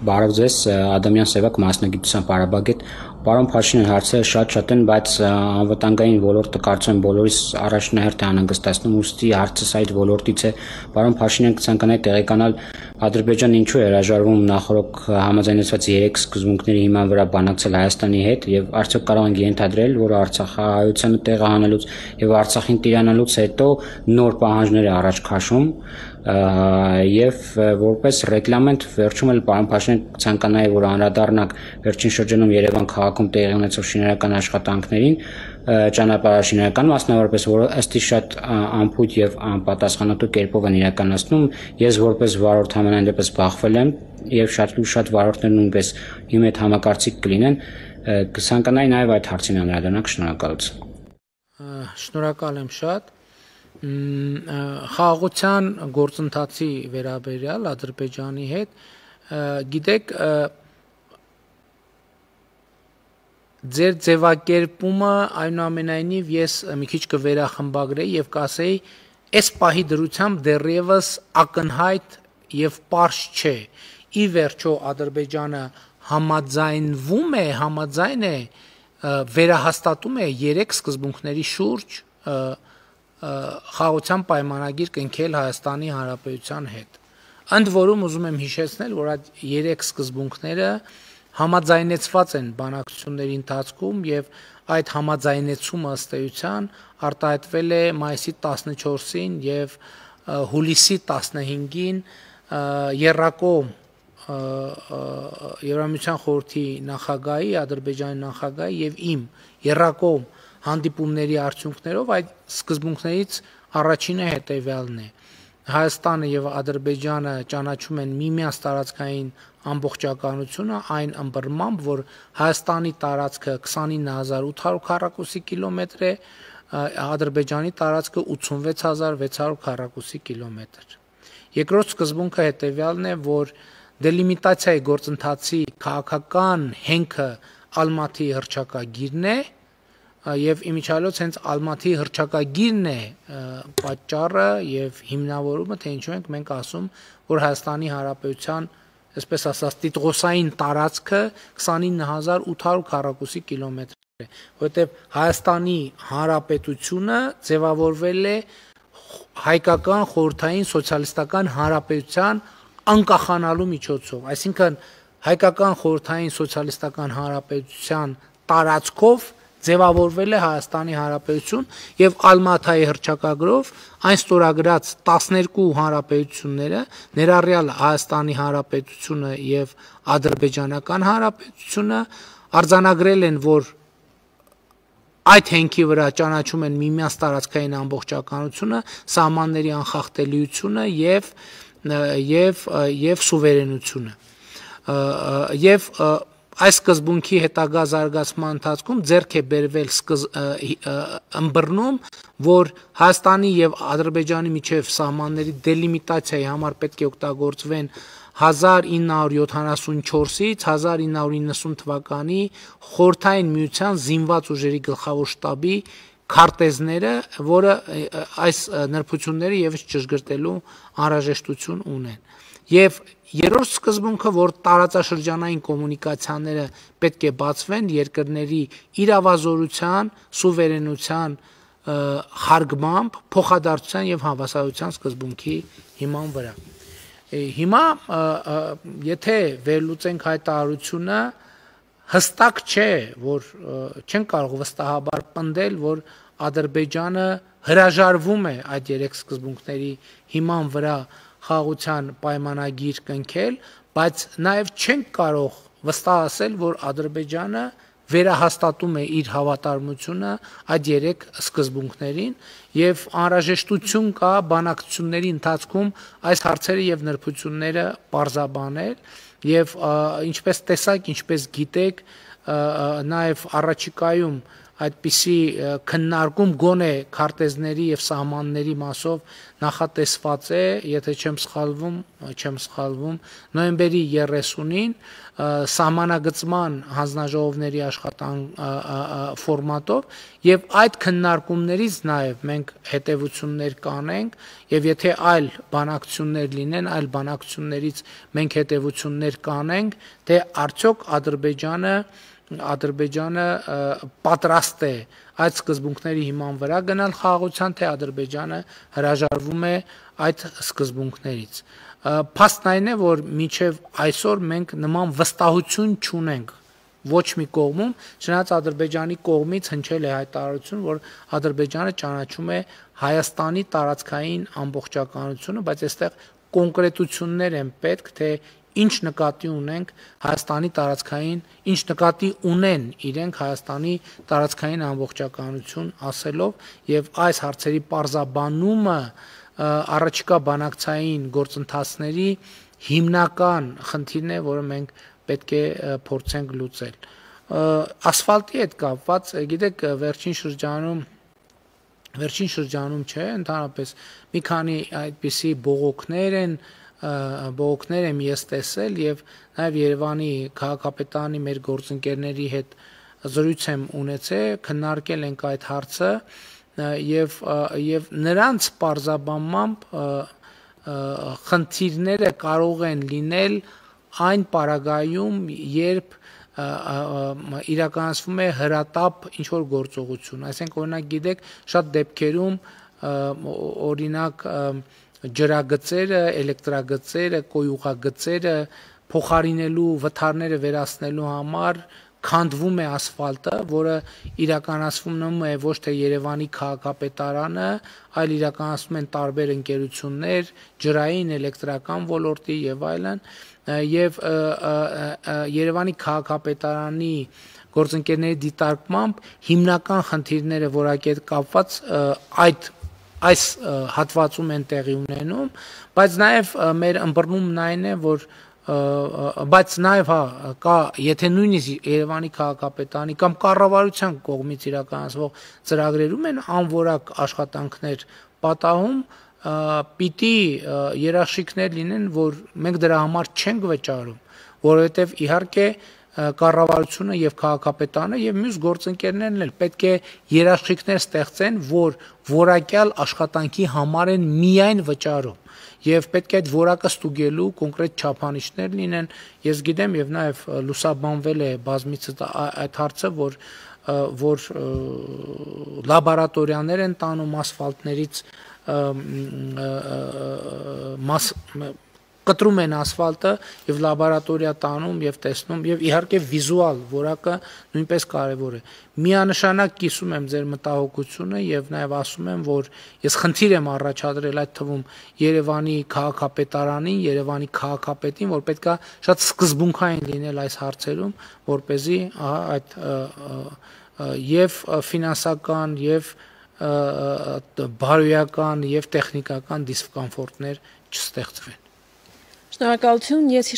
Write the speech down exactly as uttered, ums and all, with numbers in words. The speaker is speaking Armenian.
Բարև ձեզ, Ադամյան Սևակ, մասնագիտությամբ Արաբագետ։ Պարոն Փաշինյան, հարցերը շատ-շատ են, բայց անվտանգային ոլորտը կարծում եմ բոլորիս առաջնահերթ է անհանգստացնում, ուստի հարցս այդ ոլորտից է։ Պարոն Փաշինյան, կցանկանայի տեղեկանալ Ադրբեջանը ինչու է հրաժարվում նախորդ համաձայնեցված երեք սկզբունքների հիման վրա բանակցել Հայաստանի հետ, եւ արդյոք կարող ենք ենթադրել, որ Արցախահայությանը տեղը հանելուց եւ Արցախին տիրանալուց հետո նոր պահանջներ է առաջ քաշում, եւ որպես ռեգլամենտ վերջում էլ պարոն Փաշինյան ցանկանայի, որ անդրադառնանք վերջին շրջանում Երևան քաղաքում տեղի ունեցող շինարարական աշխատանքներին, ճանապարհաշինարական մասնավորապես, որը ըստ իս շատ անփույթ եւ անպատասխանատու կերպով են իրականացնում, ես որպես վարորդ համենայն դեպս բախվել եմ եւ շատ ու շատ վարորդներ նույնպես իմ հետ համակարծիք կլինեն, կցանկանայի նաեւ այդ հարցին անդրադառնանք, շնորհակալություն։ Շնորհակալ եմ շատ։ Խաղաղության գործընթացի վերաբերյալ Ադրբեջանի հետ, գիտեք, ձեր ձևակերպումը այնուամենայնիվ ես մի քիչ կվերախմբագրեի եւ կասեի, այս պահի դրությամբ դեռևս ակնհայտ եւ պարզ չէ։ Ի վերջո Ադրբեջանը համաձայնվում է, համաձայն է, վերահաստատում է երեք սկզբունքների շուրջ խաղաղության պայմանագիր կնքել Հայաստանի Հանրապետության հետ։ Ընդ որում ուզում եմ հիշեցնել, որ այդ երեք սկզբունքները համաձայնեցված են բանակցությունների ընթացքում եւ այդ համաձայնեցումը ըստ էության արտահայտվել է մայիսի տասնչորսին եւ հուլիսի տասնհինգին Եռակոմ Եվրամիության խորհրդի նախագահի, Ադրբեջանի նախագահի եւ իմ Եռակոմ հանդիպումների արդյունքներով այդ սկզբունքներից առաջինը հետեւյալն է. Հայաստանը եւ Ադրբեջանը ճանաչում են միմյանց տարածքային ամբողջականությունը այն ըմբռնմամբ, որ Հայաստանի տարածքը քսանինը հազար ութ հարյուր քառակուսի կիլոմետր է, Ադրբեջանի տարածքը ութսունվեց հազար վեց հարյուր քառակուսի կիլոմետր։ Երկրորդ սկզբունքը հետեւյալն է, որ դելիմիտացիայի գործընթացի քաղաքական հենքը Ալմաթի հռչակագիրն է, եւ իմիջիալոց հենց Ալմաթի հռչակագիրն է պատճառը եւ հիմնավորումը, թե ինչու ենք մենք ասում, որ Հայաստանի Հանրապետության, այսպես ասած, տիտղոսային տարածքը քսանինը հազար ութ հարյուր քառակուսի կիլոմետր է, որովհետեւ Հայաստանի Հանրապետությունը ձևավորվել է հայկական խորհրդային սոցիալիստական հանրապետության անկախանալու միջոցով, այսինքն հայկական խորհրդային սոցիալիստական հանրապետության տարածքով ձևավորվել է Հայաստանի Հանրապետություն եւ Ալմաթայի հռչակագրով այն ստորագրած տասներկու հանրապետությունները, ներառյալ Հայաստանի Հանրապետությունը եւ Ադրբեջանական Հանրապետությունը, արձանագրել են, որ այդ հենքի վրա ճանաչում են միմյանց տարածքային ամբողջականությունը, սահմանների անխախտելիությունը եւ եւ եւ սուվերենությունը։ Եվ այս սկզբունքի հետագա զարգացման ընթացքում ձեռք է բերվել ըմբռնում, որ Հայաստանի եւ Ադրբեջանի միջև սահմանների դելիմիտացիայի համար պետք է օգտագործվեն հազար ինը հարյուր յոթանասունչորսից հազար ինը հարյուր իննսուն թվականի Խորհրդային Միության զինված ուժերի գլխավոր շտաբի քարտեզները, որը այս նրբությունները եւս ճշգրտելու անհրաժեշտություն ունեն։ Եվ երրորդ սկզբունքը, որ տարածաշրջանային կոմունիկացիաները պետք է բացվեն երկրների իրավազորության, սուվերենության հարգմամբ, փոխադարձության եւ հավասարության սկզբունքի հիման վրա։ Հիմա եթե վերլուծենք հայտարարությունը, հստակ չէ, որ չեն կարող վստահաբար պնդել, որ Ադրբեջանը հրաժարվում է այդ երեք սկզբունքների հիման վրա խաղաղության պայմանագիր կնքել, բայց նաև չենք կարող վստահ ասել, որ Ադրբեջանը վերահաստատում է իր հավատարմությունը այդ երեք սկզբունքներին եւ անհրաժեշտություն կա բանակցությունների ընթացքում այս հարցերը եւ նրբությունները պարզաբանել եւ ինչպես տեսակ, ինչպես գիտեք, նաեւ առաջիկայում այդպիսի քննարկում գոնե քարտեզների եւ սահմանների մասով նախատեսված է, եթե չեմ սխալվում, չեմ սխալվում, նոյեմբերի երեսունին սահմանագծման հանձնաժողովների աշխատանք ֆորմատով եւ այդ քննարկումներից նաեւ մենք հետեւություններ կանենք եւ եթե այլ բանակցություններ լինեն, այլ բանակցություններից մենք հետեւություններ կանենք, թե արդյոք Ադրբեջանը Ադրբեջանը պատրաստ է այդ սկզբունքների հիման վրա գնալ խաղաղության, թե Ադրբեջանը հրաժարվում է այդ սկզբունքներից։ Փաստն այն է, որ մինչև այսօր մենք նման վստահություն չունենք ոչ մի կողմում, չնայած Ադրբեջանի կողմից հնչել է հայտարարություն, որ Ադրբեջանը ճանաչում է Հայաստանի տարածքային ամբողջականությունը, բայց այստեղ կոնկրետություններ են պետք, թե ինչ նկատի ունենք Հայաստանի տարածքային, ինչ նկատի ունեն իրենք Հայաստանի տարածքային ամբողջականություն ասելով եւ այս հարցերի պարզաբանումը առաջիկա բանակցային գործընթացների հիմնական խնդիրն է, որը մենք պետք է փորձենք լուծել։ Ասֆալտի հետ կապված, գիտեք, վերջին շրջանում վերջին շրջանում չէ, ընդհանրապես մի քանի այդպիսի բողոքներ են բողոքներ եմ ես տեսել եւ նաեւ Երևանի քաղաքապետարանի մեր գործընկերների հետ զրույց եմ ունեցել, քննարկել ենք այդ հարցը եւ եւ նրանց պարզաբանմամբ խնդիրները կարող են լինել այն պարագայում, երբ իրականացվում է հրատապ ինչ որ գործողություն, այսինքն օրինակ գիտեք, շատ դեպքերում օրինակ ջրագծերը, էլեկտրագծերը, կոյուղագծերը փոխարինելու, վթարները վերացնելու համար քանդվում է ասֆալտը, որը իրականացվում է ոչ թե Երևանի քաղաքապետարանը, այլ իրականացնում են տարբեր ընկերություններ, ջրային, էլեկտրական ոլորտի եւ այլն, եւ Երևանի քաղաքապետարանի գործընկերների դիտարկմամբ հիմնական խնդիրները որակի հետ կապված այդ այս հատվածում են տեղի ունենում, բայց նաև մեր ըմբռնումն այն է, որ բայց նաև հա կա, եթե նույնիսկ Երևանի քաղաքապետարանի կամ կառավարության կողմից իրականացվող ծրագրերում են անորակ աշխատանքներ պատահում, պիտի երաշխիքներ լինեն, որ մենք դրա համար չենք վճարում, որովհետև իհարկե կառավարությունը եւ քաղաքապետարանը եւ մյուս գործընկերներն էլ պետք է երաշխիքներ ստեղծեն, որ որակյալ աշխատանքի համար են միայն վճարում եւ պետք է այդ որակը ստուգելու կոնկրետ չափանիշներ լինեն։ Ես գիտեմ եւ նաեւ լուսաբանվել է բազմիցս այդ հարցը, որ որ լաբորատորիաներ են տանում ասֆալտներից մաս կտրում են ասֆալտը եւ լաբորատորիա տանում եւ տեսնում եւ իհարկե վիզուալ որակը նույնպես կարեւոր է։ Միանշանակ կիսում եմ ձեր մտահոգությունը եւ նաեւ ասում եմ, որ ես խնդիր եմ առաջադրել այդ թվում Երևանի քաղաքապետարանին, Երևանի քաղաքապետին, որ պետքա շատ սկզբունքային լինել այս հարցերում, որ เป զի այդ եւ ֆինանսական եւ բարոյական եւ տեխնիկական դիսկոմֆորտներ չստեղծվեն։ Շնորհակալություն, ես